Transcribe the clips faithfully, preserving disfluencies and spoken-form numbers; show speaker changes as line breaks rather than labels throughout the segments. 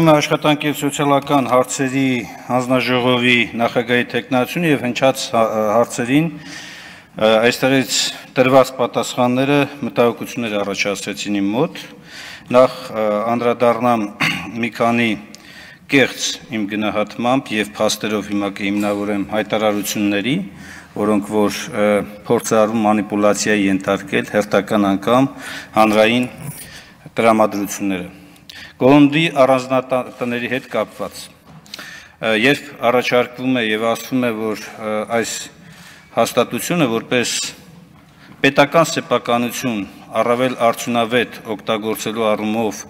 Աշխատանքի և սոցիալական հարցերի հանձնաժողովի նախագահի թեկնածությունը և հնչած հարցերին այստեղից տրված պատասխանները մտահոգություններ առաջացրեցին իմ մոտ։ Նախ անդրադառնամ մի քանի կեղծ իմ գնահատմամբ և փաստերով հիմա կհիմնավորեմ հայտարարությունների, որոնք որ փորձարարում մանիպուլյացիայի ենթարկել հերթական անգամ հանրային տրամադրությունները։ Կոնդի առանձնատների հետ կապված, երբ առաջարկվում է և ասվում է, որ այս հաստատությունը որպես պետական սեփականություն առավել արդյունավետ օգտագործելու առումով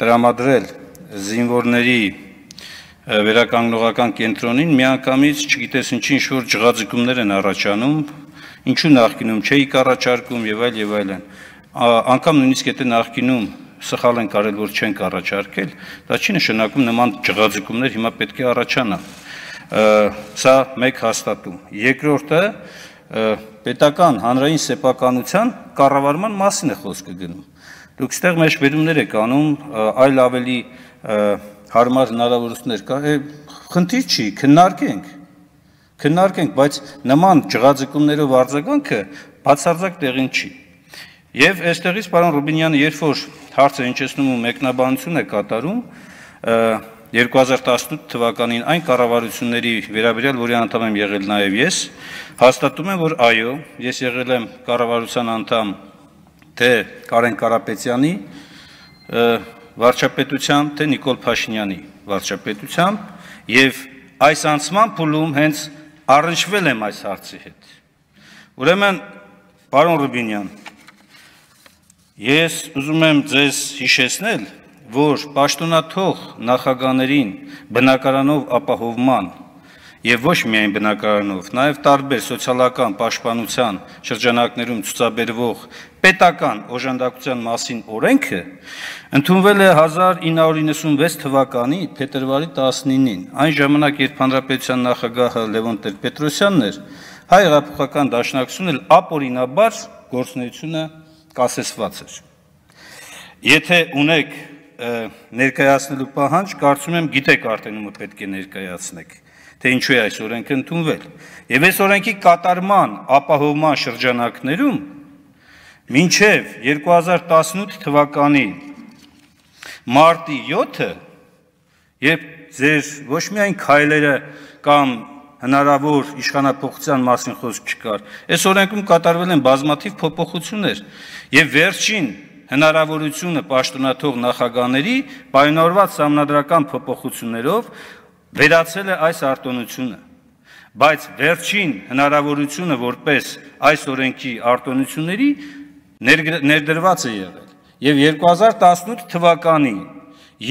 տրամադրել զինվորների վերականգնողական կենտրոնին, միանգամից չգիտես ինչի ինչ-որ ջղաձգումներ են առաջանում, ինչու նախկինում չէիք առաջարկում և այլ և այլն, անգամ նույնիսկ եթե նախկինում սխալ են կարել, որ չենք առաջարկել, դա չի նշանակում նման ջղաձգումներ հիմա պետք է առաջանա։ Սա մեկ հաստատում։ Երկրորդը պետական հանրային սեփականության կառավարման մասին է խոսքը գնում։ Դուք ստեղ մեջբերումներ եք անում, այլ ավելի հարմար հնարավորություններ կա, խնդիր չի, քննարկենք, քննարկենք, բայց նման ջղաձգումներով արձագանքը բացարձակ տեղին չի։ Եվ այստեղից պարոն Ռուբինյանը, երբ որ հարցը հնչեցնում ու մեկնաբանություն է կատարում, երկու հազար տասնութ թվականին այն կառավարությունների վերաբերյալ, որի անդամ եմ եղել նաև ես, հաստատում եմ, որ այո, ես եղել եմ կառավարության անդամ թե Կարեն Կարապետյանի վարչապետությամբ, թե Նիկոլ Փաշինյանի վարչապետությամբ և այս անցման փուլում հենց առնչվել եմ այս հարցի հետ։ Ուրեմն, պարոն Ռուբինյան, ես ուզում եմ ձեզ հիշեցնել, որ պաշտոնաթող նախագահներին բնակարանով ապահովման և ոչ միայն բնակարանով, նաև տարբեր սոցիալական պաշտպանության շրջանակներում ցուցաբերվող պետական օժանդակության մասին օրենքը ընդունվել է հազար ինը հարյուր իննսունվեց թվականի փետրվարի տասնինին, այն ժամանակ, երբ հանրապետության նախագահը Լևոն Տեր-Պետրոսյանն էր, Հայ հեղափոխական դաշնակցությունն էլ ապօրինաբար գործունեությունը կասեցված էր։ Եթե ունեք ներկայացնելու պահանջ, կարծում եմ գիտեք արդեն ումը պետք է ներկայացնեք, թե ինչու է այս օրենքը ընդունվել։ Եվ այս օրենքի կատարման ապահովման շրջանակներում մինչև երկու հազար տասնութ թվականի մարտի յոթը, երբ ձեր ոչ միայն քայլերը կամ հնարավոր իշխանափոխության մասին խոսք չկար, այս օրենքում կատարվել են բազմաթիվ փոփոխություններ և վերջին հնարավորությունը պաշտոնաթող նախագահների պայմանավորված սահմանադրական փոփոխություններով վերացել է այս արտոնությունը, բայց վերջին հնարավորությունը որպես այս օրենքի արտոնությունների ներդրված է եղել։ Եվ երկու հազար տասնութ թվականին,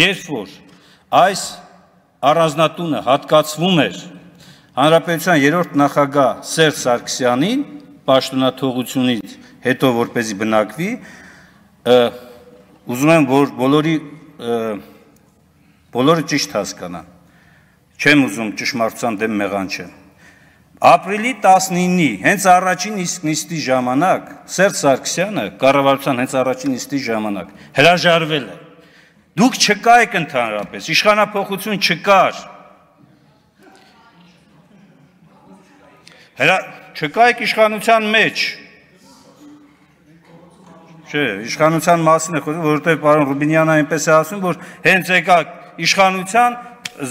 երբ որ այս առանձնատունը հատկացվում էր Հանրապետության երրորդ նախագահ Սերժ Սարգսյանին պաշտոնաթողությունից հետո որպեսզի բնակվի, ուզում եմ, որ բոլորի բոլորը ճիշտ հասկանան, չեմ ուզում ճշմարտության դեմ մեղանչեմ։ Ապրիլի տասնինի հենց առաջին նիստի ժամանակ Սերժ Սարգսյանը կառավարության հենց առաջին նիստի ժամանակ հրաժարվել է։ Դուք չկայք ընդհանրապես, իշխանափոխություն չկար։ Չկայք իշխանության մեջ։ Չէ, իշխանության մասին է խոսում, որովհետև պարոն Ռուբինյանը այնպես է ասում, որ հենց եկաք իշխանության,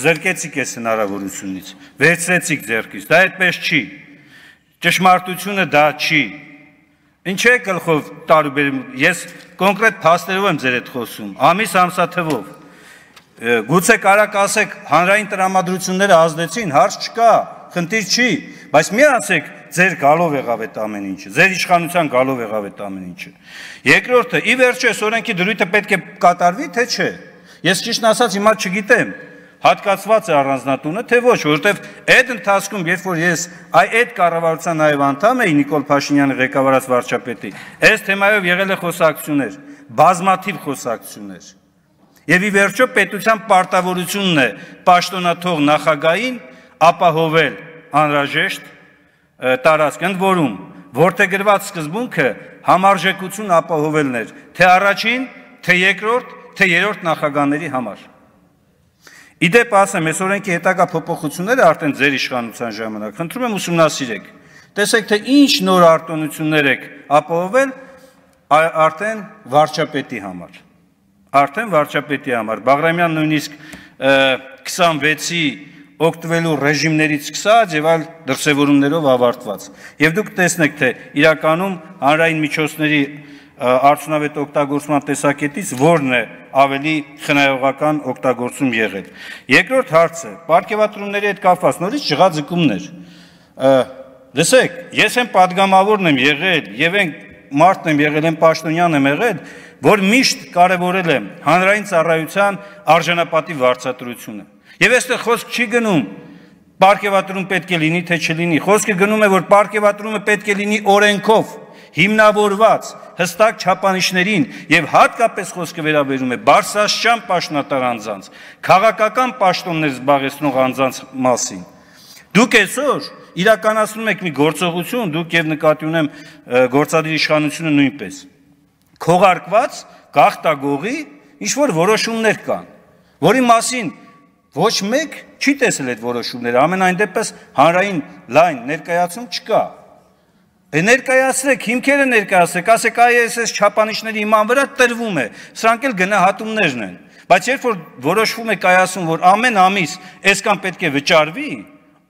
զրկեցիք այս հնարավորությունից, վերցրեցիք ձեռքից, դա այդպես չի, ճշմարտությունը դա չի։ Ինչ է գլխով տարուբերում, ես կոնկրետ փաստերով եմ ձեր հետ խոսում, ամիս ամսաթվով, գուցե կարաք ասեք հանրային տրամադրությունները ազդեցին, հարց չկա, խնդիր չի, բայց մի ասեք ձեր գալով եղավ այդ ամեն ինչը, ձեր իշխանության գալով եղավ այդ ամեն ինչը։ Երկրորդը, ի վերջո այս օրենքի դրույթը պետք է կատարվի, թե չէ։ Ես ճիշտն ասած հիմա չգիտեմ, հատկացված է առանձնատունը, թե ոչ, որովհետև այդ ընթացքում, երբ որ ես այդ կառավարության նաև անդամ էի Նիկոլ Փաշինյանի ղեկավարած վարչապետի, այս թեմայով եղել է խոսակցություններ, բազմաթիվ խոսակցություններ։ Եվ ի վերջո պետության պարտավորությունն է պաշտոնաթող նախագահին ապահովել անհրաժեշտ տարածք, ընդ որում որդեգրված սկզբունքը համարժեքություն ապահովելն էր թե առաջին, թե երկրորդ, թե երրորդ նախագահների համար։ Իդեպ ասեմ, այս օրենքի հետագա փոփոխությունները արդեն ձեր իշխանության ժամանակ, խնդրում եմ ուսումնասիրեք, տեսեք, թե ինչ նոր արտոնություններ եք ապահովել արդեն վարչապետի համար, արդեն վարչապետի համար, Բաղրամյան նույնիսկ քսանվեցի օգտվելու ռեժիմներից սկսած եւ այլ դրսևորումներով ավարտված։ Եվ դուք տեսնեք, թե իրականում հանրային միջոցների արդյունավետ օգտագործման տեսակետից որն է ավելի խնայողական օգտագործում եղել։ Երկրորդ հարցը, պարգևատրումների հետ կապված նորից ջղաձգումներ։ Լսեք, ես եմ падգամավորն եմ եղել եւ այն մարդն եմ եղել, եմ պաշտոնյան եմ եղել, որ միշտ կարևորել եմ հանրային ծառայության արժանապատիվ վարձատրությունը։ Եվ այստեղ խոսք չի գնում պարգևատրում պետք է լինի, թե չլինի, խոսքը գնում է, որ պարգևատրումը պետք է լինի օրենքով հիմնավորված հստակ չափանիշներին եւ հատկապես խոսքը վերաբերում է բարձրաստիճան պաշտոնատար անձանց, քաղաքական պաշտոններ զբաղեցնող անձանց մասին։ Դուք այսօր իրականացնում եք մի գործողություն, դուք եւ նկատի ունեմ գործադիր իշխանությունը նույնպես։ Քողարկված գաղտագողի ինչ որ որոշումներ կան, որի մասին ոչ մեկ չի տեսել այդ որոշումները, ամենայն դեպս հանրային լայն ներկայացում չկա։ Ներկայացրեք, հիմքերը ներկայացրեք, ասեք այ այս չափանիշների իման վրա տրվում է, սրանք էլ գնահատումներն են։ Բայց երբ որ որոշվում է կայացում, որ ամեն ամիս այսքան պետք է վճարվի,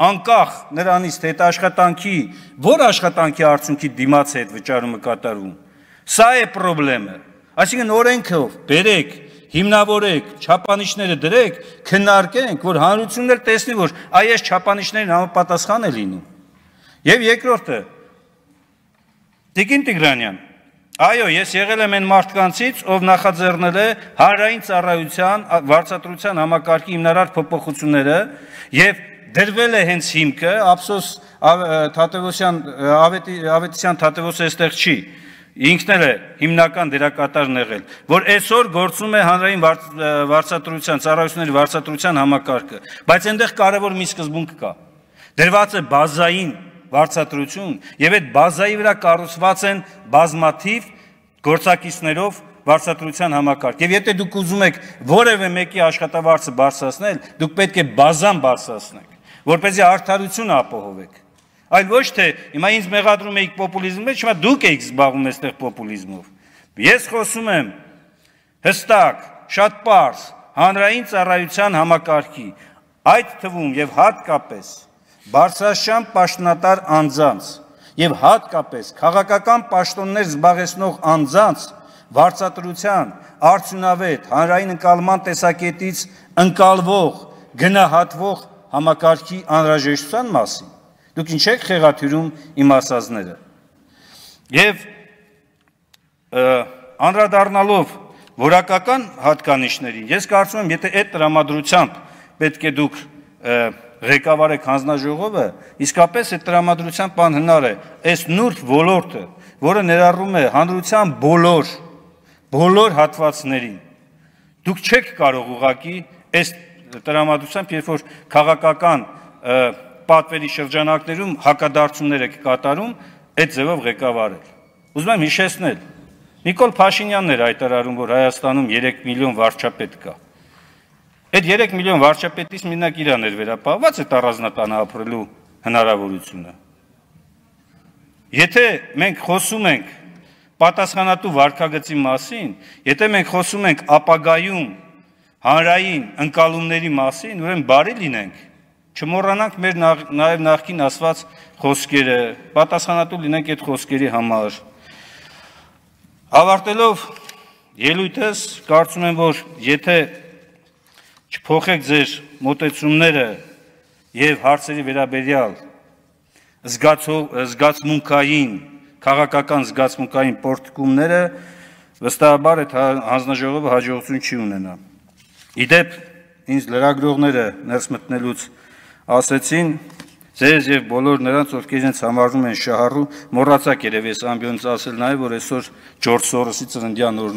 անկախ նրանից թե այդ աշխատանքի, որ աշխատանքի արդյունքի դիմաց է այդ վճարումը կատարվում, սա է խնդրեմը։ Այսինքն օրենքով բերեք, հիմնավորեք, չափանիշները դրեք, քննարկենք, որ հանրությունն էլ տեսնի, որ այ այս չափանիշներին համապատասխան է լինում։ Եվ երկրորդը, Տիկին Տիգրանյան, այո, ես եղել եմ այն մարդկանցից, ով նախաձեռնել է հանրային ծառայության վարձատրության համակարգի հիմնարար փոփոխությունները եւ դրվել է հենց հիմքը, ափսոս Թադևոսյան Ավետիսյան Թադևոսը այստեղ չի, ինքն էլ է հիմնական դերակատարն եղել, որ այսօր գործում է հանրային վարձատրության, ծառայությունների վարձատրության համակարգը, բայց այնտեղ կարևոր մի սկզբունք կա։ Դրված է բազային վարձատրություն եւ այդ բազայի վրա կառուցված են բազմաթիվ գործակիցներով վարձատրության համակարգ։ Եվ եթե դուք ուզում եք որևէ մեկի աշխատավարձը բարձրացնել, դուք պետք է բազան բարձրացնեք, որպեսզի արդարությունը ապահովեք։ Այլ ոչ թե հիմա ինձ մեղադրում եք պոպուլիզմի մեջ, հիմա դուք եք զբաղվում այստեղ պոպուլիզմով։ Ես խոսում եմ հստակ, շատ պարզ հանրային ծառայության համակարգի, այդ թվում եւ հատկապես բարձրաստիճան պաշտոնատար անձանց եւ հատկապես քաղաքական պաշտոններ զբաղեցնող անձանց վարձատրության արդյունավետ հանրային ընկալման տեսակետից ընկալվող, գնահատվող համակարգի անհրաժեշտության մասին։ Դուք ինչ եք խեղաթյուրում իմ ասածները։ Եվ անդրադառնալով որակական հատկանիշներին, ես կարծում եմ, եթե այդ տրամադրությամբ պետք է դուք ղեկավարեք հանձնաժողովը, իսկապես այդ տրամադրությամբ անհնար է այս նուրբ ոլորտը, որը ներառում է հանրության բոլոր, բոլոր հատվածներին։ Դուք չեք կարող ուղղակի այս տրամադրությամբ, երբ որ քաղաքական պատվերի շրջանակներում հակադարձումներ եք կատարում, այդ ձևով ղեկավարել։ Ուզում եմ հիշեցնել, Նիկոլ Փաշինյանն էր հայտարարում, որ Հայաստանում երեք միլիոն վարչապետ կա։ Այդ երեք միլիոն վարչապետից մենակ իրան էր վերապահված այդ առանձնատանը ապրելու հնարավորությունը։ Եթե մենք խոսում ենք պատասխանատու վարքագծի մասին, եթե մենք խոսում ենք ապագայում հանրային ընկալումների մասին, ուրեմն բարի լինենք, չմոռանանք մեր նաև նախկին ասված խոսքերը, պատասխանատու լինենք այդ խոսքերի համար։ Ավարտելով ելույթս, կարծում եմ, որ եթե չփոխեք ձեր մոտեցումները եւ հարցերի վերաբերյալ զգացմունքային, քաղաքական զգացմունքային պորտկումները, վստահաբար այդ հանձնաժողովը հաջողություն չի ունենա։ Իդեպ ինձ լրագրողները ներս մտնելուց ասեցին, ձեզ եւ բոլոր նրանց, ովքեր իրենց համարում են շահառու, մոռացաք երևի այս ամբիոնից ասել նաեւ, որ այսօր Ջորջ Սորոսի ծննդյան օրն է։